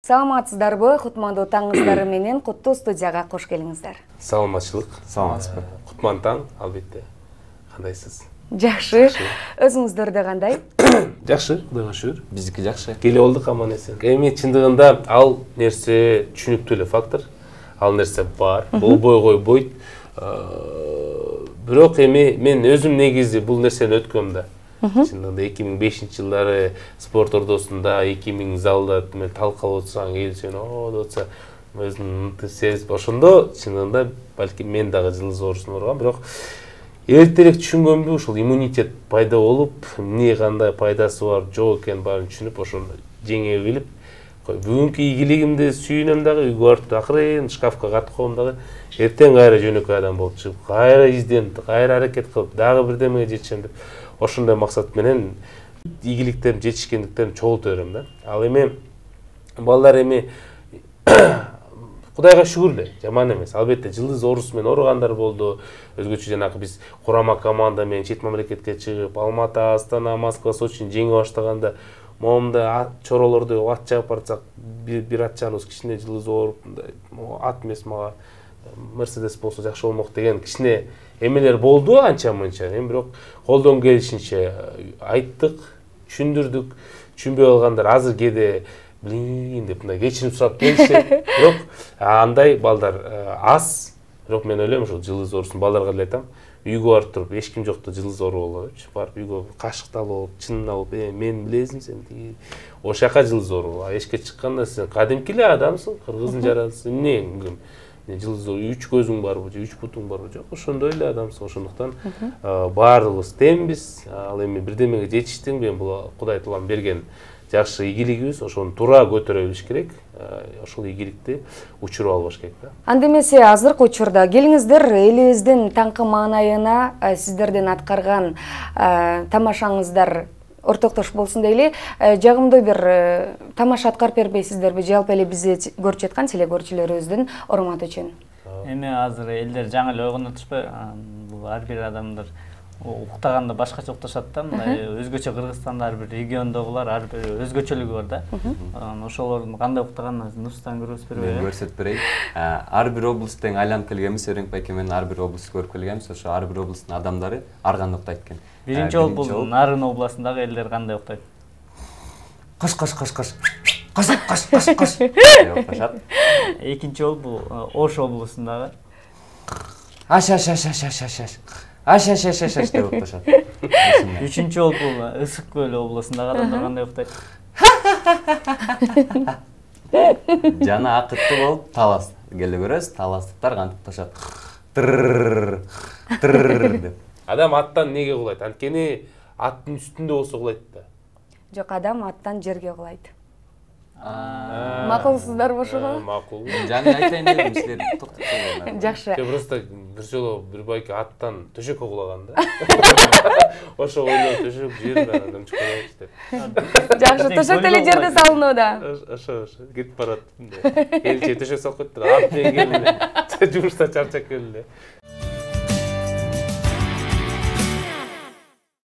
Саламатсыздарбы? Кутмандуу таңыңыздары менен Куттуу студияга кош келиңиздер. Саламатчылык. Саламатсызбы? Кутман таң, албетте. Кандайсыз? Жакшы. Өзүңүздөрдө кандай? Жакшы, Кудайга шүгүр. Биздики жакшы. Келип алдык аман эсен. Эми чындыгында ал нерсе түшүнүктүү эле фактор. Ал нерсе бар. Болбой койбойт. Бирок эми мен өзүм негизи бул нерсени өткөм да. Чындыгында 2005-жылдары спорт ордосунда 2000 залда талкалап отурсаң, эл сени деп атса, өзүн сезип ошондо чындыгында балким мен дагы жылдыз оорусуна ооругам, бирок эртерээк түшүнгөмбү, ушул иммунитет пайда болуп, эмне кандай пайдасы бар, жок экенин баарын түшүнүп, ошону жеңе билип, бүгүнкү ийгилигимди сүйүнөм дагы, үйгө барып акырын шкафка катып коем дагы, эртең кайра жөнөкөй адам болуп чыгып, кайра изденип, кайра аракет кылып, дагы бирдемеге жетишем деп, ошондой максат менен ийгиликтерим жетишкендиктерин чогулта берем да. Ал эми балдар эми Кудайга шүгүр эле, жаман эмес. Албетте жылдыз оорусу менен ооругандар болду. Өзгөчө жанагы биз курама команда менен чет мамлекетке чыгып, Алматы, Астана, Москва, Сочини жеңе баштаганда, момунда чоролорду ат чабып барсак, бир ат чабыбыз кичине жылдыз ооруп, ат эмес мага Мерседес болсо жакшы болмок деген кичине эмелер болду анча-мынча. Эми бирок колдон келишинче айттык, түшүндүрдүк. Түшүнбөй калгандар азыр кээде блин деп мындай кечирим сурап келишет. Бирок андай балдар аз. Бирок мен ойлойм ушул жылдыз оорусун балдарга деле айтам. Үйгө барып туруп, эч ким жокто жылдыз оору боло депчи. Барып үйгө кашыкты алып, чынын алып, мен билесиң сен тиги ошол жака жылдыз оору. Эшикке чыкканда сен кадимки эле адамсың, кыргыздын жаратылышы. Эмне? Жылдыз 3 көзүң барбы, 3 бутуң барбы? Жок, ошондой эле адамсың. Ошондуктан баардыгыбыз теңбиз. Ал эми бирдемеге жетиштиң, мен бул Кудай Таалам берген жакшы ийгилигибиз, ошону туура көтөрө билиш керек. Ошол ийгиликти учуруп албаш керек да. Анда эмесе азыркы учурда келиңиздер элибиздин таңкы маанайына сиздердин аткарган тамашаңыздар ортоктош болсун дейли. Жагымдуу бир тамаша аткарып бербейсиздерби? Жалпы эле бизди көрүп жаткан телекөрүүчүлөрүбүздүн урматы үчүн. Эми азыр элдер жаңы эле ойгонотушпайбы? Бул ар бир адамдар уктаганда башкача укташат да, мындай өзгөчө Кыргызстанда ар бир региондогулар ар бир өзгөчөлүгү бар да. Ошолордун кандай уктаганын Нурсултан көрсөтүп береби? Мен көрсөтүп берейин. Ар бир облусттан айланып келгенбиз, Өрөң байке менен ар бир облусту көрүп келгенбиз. Ошо ар бир облустун адамдары ар кандай уктайт экен. Биринчи жолу бул Нарын областындагы элдер кандай уктайт? Каш каш каш каш. Каш каш каш каш деп укташат. Экинчи жолу бул Ош областындагы аш аш аш аш аш аш аш. Аш аш аш аш аш деп укташат. Үчүнчү жолу бул Ысык көл областындагы адамдар кандай уктайт? Жана акытты болуп талас келе көрөсүз. Таластыктар кантип укташат? Тыр деп. Адам аттан неге кулайт? Анткени аттын үстүндө болсо кулайт да. Жок, адам аттан жерге кулайт. Макулсуздарбы ошого? Макул. Жаны айтайын дедим, силер токтотуңар. Жакшы. Просто бир жолу бир байке аттан төшөккө кулаган да. Ошо ойлоп төшөк жерден адам чыкпайт деп. Жакшы, төшөк деле жерде салынууда. Ошо кетип барат. Келче төшөк салып койтур. Ат менен келди. Жумуштан чарчап келди.